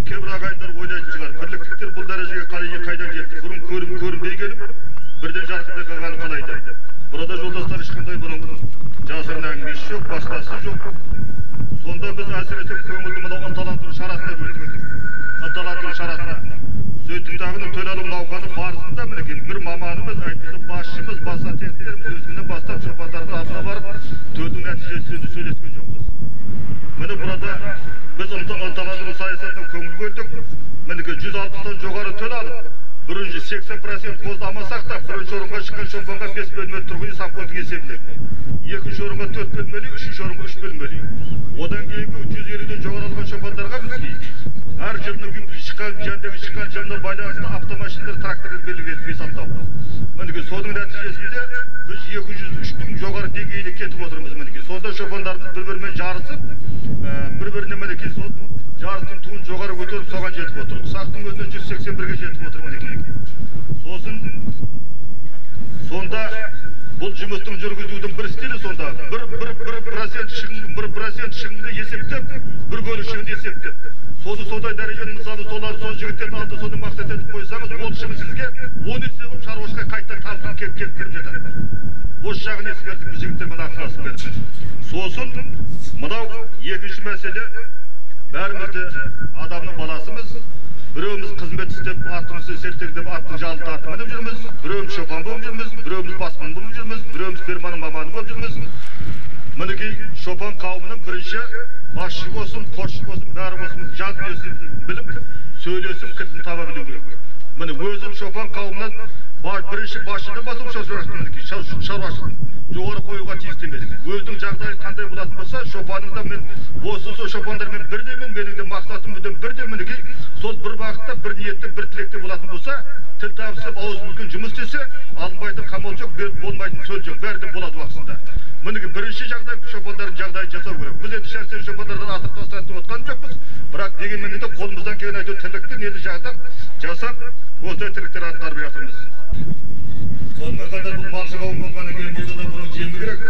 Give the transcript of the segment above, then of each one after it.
кейбір ағайындар ойлайтын шығар, бірліктіктер бұл дәрежеге қалай қайдан жетті? Бұрын көрінбей келіп, бірден жарқырай қалғаны қалайды. Burada жолдастар ешқандай бұның жасырын әңгімесі жоқ, басқасы жоқ. Сонда біз әсіресе көңілді мынау ынталандыру шарасына бөлдік. Ынталандыру шарасына. Сөйтімдағының төл алу науқаны барысында мінекей бір маманымыз, әйтпесе басшымыз, баса тектеріміз өзімнен бастап шопандарға алдына барып, төлдің нәтижесінде сөйлескен жоқпыз. Міне burada biz ынталандыру саясатына көңіл бөлдік. Мінекей 160-тан жоғары төл алып, бірінші 80% қоздамасақ та, бірінші орынға шыққан шопанға 5 бөлмелі тұрғын үй совхоздың есебінде. Екінші орынға 4 бөлмелі, үшінші орынға 3 бөлмелі. Одан кейінгі 150-ден жоғары алған шопандарға бізге әр жылдың шыққан жылына байланысты автомашиналар, тракторлар белгіленіп сақтау. Мінекей соның нәтижесінде біз 203-тің жоғары деңгейіне кетіп отырмыз. Мінекей сонда шопандарымыз бір-бірімен жарысып, бір-біріне мінекей сол жарыстың туын жоғары көтеріп соған жетіп отыр. Сақтың өзіне 181-ге жетіп отыр мінекей. Сосын сонда бұл жұмыстың жүргізудің бір стилі сонда 1% шығынды есептеп, бір бөлік шығынды есептеп. Соны сондай дәрежені мысалы сол жігіттердің алдында соны мақсат етіп қойсаңыз, ол шығын сізге 10 есе болып шаруашылыққа қайтадан табыс келіп жатады. Осы жағын ескертіп біз жігіттермен ақылдасып бердік. Сосын мынау екінші мәселе, бәрімізде адамның баласымыз, біреуіміз қызмет істеп, аттымызды сертеңдеп, аттың жалын тартып мініп жүрміз, біреуіміз шопан болып жүрміз, біреуіміз басқын болып жүрміз, біреуіміз ферманың маманы болып жүрміз. Мінекей шопан қауымының бірінші басшы болсын, қосшы болсын, бәрі болсын, жан дүниесін біліп, сөйлесіп, кілтін таба білу керек. Міне өзім шопан қауымынан бірінші басшыдан басып шаруашылықтың жоғары қоюға тиісті емес. Өзінің жағдайы қандай болатын болса, шопаныңда мен осы шопандармен бірдемен, менің де мақсатым бірден мінекей сол бір бағытта, бір ниетте, бір тілекте болатын болса, тіл табысып, ауыз білген жұмыс істесе, алынбайтын қамал жоқ, болмайтын сөл жоқ, бәрі де болады уақытында. Мінекей бірінші жағдай шопандардың жағдайын жасау керек. Біз енді шәксен шопандардан асып тастайтын отқан жоқпыз, бірақ дегенмен де қолымыздан келген әйтеуір тірлікті нені жасап, осындай тірліктер атқарып жатырмыз. Сонымен қатар бұл малшы қауым болғаннан кейін болса да бұның жемі керек.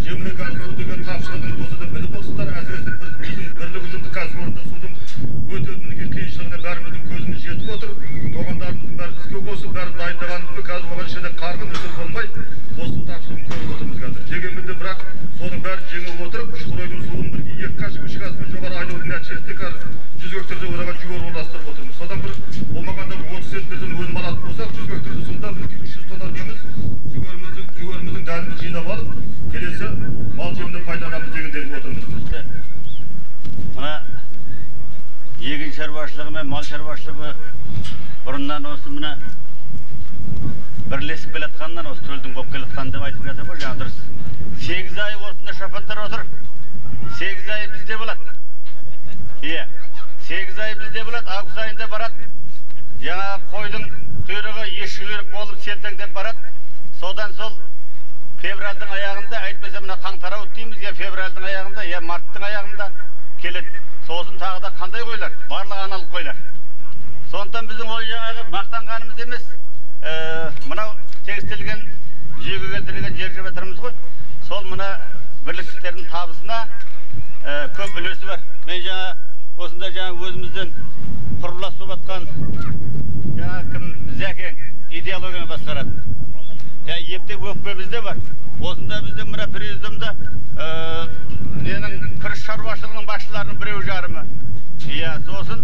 Жеміне қазір су деген тапшылығын болса да біліп болсындар, әсіресе біздің бірлік ұжымдық кәсіпорында судың өте мінекей қиыншылығына бәріміздің көзіміз жетіп отыр. Тоғандарымыздың бәрі іске қосып, бәрін дайындағанымызбен қазір оған ішінде қарғын өсіп болмай, осы су тапшылығын көріп отырмыз қазір. Дегенмен де бірақ соның бәрін жеңіп отырып, Шұқыройдың суын бір 2 қашық 3 қасымен жоғары айдаудың нәтижесінде қазір 100 гектарда оған жүгері орналастырып отырмыз. Содан бір болмағанда 30 центнерден өнім алатын болсақ, 100 гектарда сонда 300 тонна жүгеріміздің дәнін жинап алып, келесі мал жеміне пайдаланамыз дегендей отырмыз. Мына егін шаруашылығы мен мал шаруашылығы бұрыннан осы мына бірлесіп келатқаннан, осы төлдің болып келатқан деп айтып жатыр ғой, жаңа дұрыс. 8 ай осында шопандар отыр. 8 ай бізде болады. Иә. 8 ай бізде болады, август айында барады. Жаңа қойдың құйрығы ешкілерік болып селтеңдеп барады. Содан сол февральдың аяғында, әйтпесе мына қаңтар дейміз, я февральдың аяғында, я марттың аяғында келеді. Сосын тағы да қандай қойлар? Барлық аналық қойлар. Сондықтан біздің ол жаңағы мақтанғанымыз емес, мынау тегістелген, жүйеге келтірілген жер жеп жатырмыз ғой. Сол мына бірліктіктердің табысына көп үлесі бар. Мен жаңа осында өзімізден құрылас болып атқан кім Зәкең идеологияны басқарады. Ептеп өкпе бізде бар. Осында біздің мына президиумда ненің күріш шаруашылығының басшыларының біреу жарымы. Сосын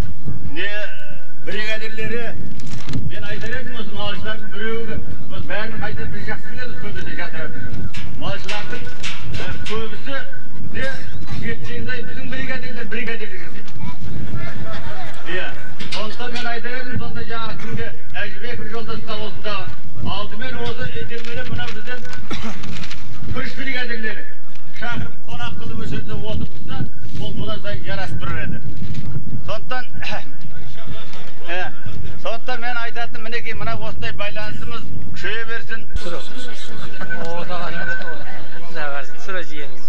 бригадирлері, мен айтар едім осы малшылардың біреуі, бәрін қайта біз жақсы білеміз, көбісі жатыр. Малшылардың көбісі де 7-8 ай біздің бригадирлер жасайды. Сондықтан мен айтар едім, сонда жаңа күнге Әжібеков жолдасқа осында алдымен осы едермелі мына бізден күріш бригадирлері шақырып қонақ қылып өсерде отырса, ол бұла сайын жарасып тұрар еді. Сондықтан мен айтатын, мінекей мына осындай байланысымыз күшейе берсін. Sıra ciğeriniz.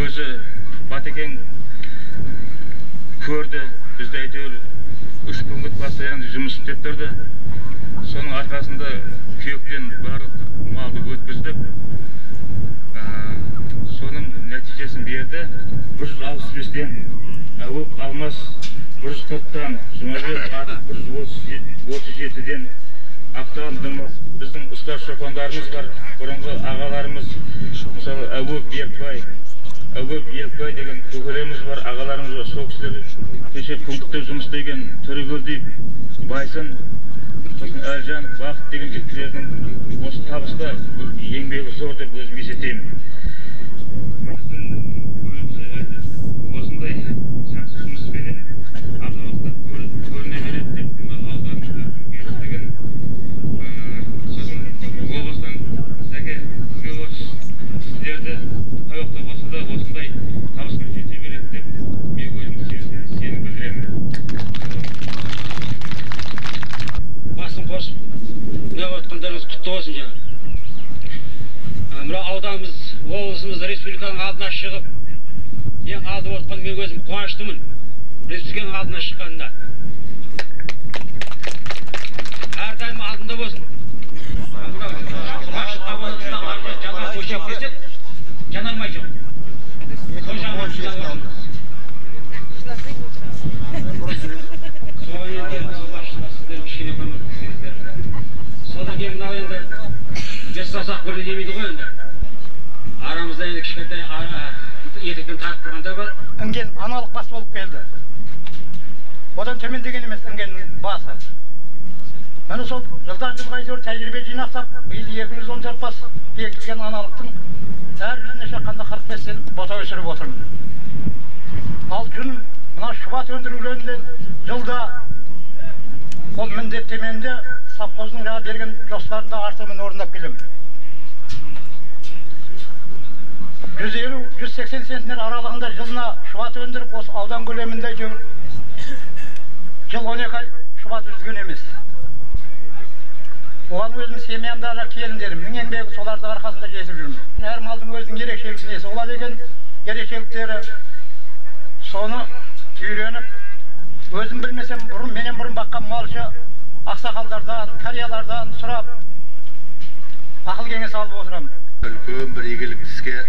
Өзі Батекең көрді, бізді әйтеуір 3 күн постоянно жұмыс істеп тұрды. Соның арқасында күйектен барлық малды өткіздік. Соның нәтижесін берді. 165-тен Әуіп Алмас, 140-тан Жұмабек Атып, 137-ден Ақтан Дымыз. Біздің ұстаз шопандарымыз бар, бұрынғы ағаларымыз, мысалы Әуіп Елікбай деген көкелеріміз бар, ағаларымыз бар. Сол кісілер кеше пунктте жұмыс істеген Төрегелдиев, Байсын, сосын Әлжан, Бақыт деген жігіттердің осы табыста еңбегі зор деп өзім есептеймін. Осындай жақсы жұмыспенен алдағы уақытта көріне береді деп ауданымызға келістігін. Сосын облыстан Сәке, сізге осы сіздерді қай уақытта болса да осындай табысқа жете береді деп мен өзім сенім білдіремін. Басын қосып, мына отқандарыңыз құтты болсын жаңа. Мына ауданымыз, облысымыз республиканың алдына шығып, ең алды отқан мен өзім қуаныштымын. Республиканың алдына шыққанында. Әрдайым алдында болсын. Жанар көшеп кесек, жанармай жоқ. Сол жағынан шыдап отырмыз. Сол енді басшылар сіздер кішкене көмектесіңіздер. Содан кейін мынау енді бес саусақ бірдей демейді ғой енді. Арамызда енді кішкентай етектен тартып тұрғандар бар. Інген аналық бас болып келді. Одан төмендеген емес інгеннің басы. Мені сол жылдан жылға әйтеуір тәжірибе жинақтап, биыл 214 бас бекітілген аналықтың әр жүзіне шаққанда 45-тен бота өсіріп отырмын. Ал жүн мына шұбат өндірулерінен жылда ол міндеттеменде совхоздың жаңа берген жоспарында артығымен орындап келемін. 150-180 центнер аралығында жылына шұбат өндіріп, осы аудан көлемінде жыл 12 ай шұбат үзген емес. Оған өзім семьямдағы келіндерім, мен еңбегі соларды арқасында жетіп жүрмін. Әр малдың өзінің ерекшелік несі болады екен, ерекшеліктері соны үйреніп, өзім білмесем, менен бұрын баққан малшы ақсақалдардан, қариялардан сұрап, ақыл кеңес алып отырамын. Үлкен бір игілік іске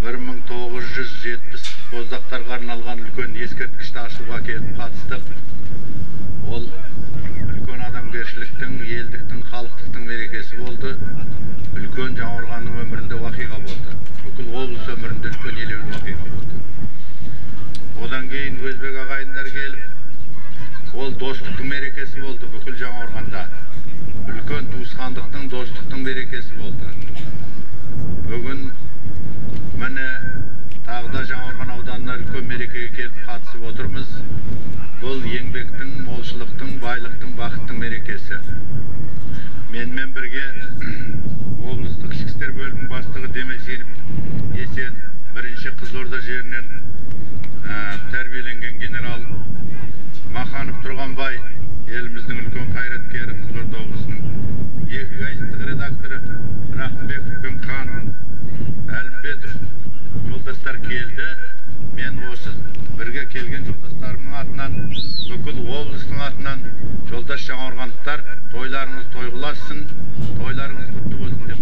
1970 боздақтарға арналған үлкен ескерткішті ашуға келіп қатыстық. Ол үлкен адамгершіліктің, елдіктің, халықтықтың мерекесі болды. Үлкен Жаңақорғанның өмірінде уақиға болды. Бүкіл облыс өмірінде үлкен елеулі уақиға болды. Одан кейін өзбек ағайындар келіп, ол достықтың мерекесі болды бүкіл Жаңақорғанда. Үлкен туысқандықтың, достықтың мерекесі болды. Бүгін міне тағда Жаңақорған ауданына үлкен мерекеге келіп қатысып отырмыз. Бұл еңбектің, молшылықтың, байлықтың, бақыттың мерекесі. Менімен бірге облыстық ішкі істер бөлімінің бастығы Демесенов Есен, бірінші Қызылорда жерінен тәрбиеленген генерал Маханов Тұрғанбай, еліміздің үлкен қайраткері, Қызылорда облысының 2 газеттік редакторы Рахымбеков пен Хан Әлімбетов жолдастар келді. Мен осы бірге келген жолдастарымның атынан, бүкіл облыстың атынан жолдас жаңақорғандықтар, тойларыңыз тойғыласын, тойларыңыз құтты болсын деп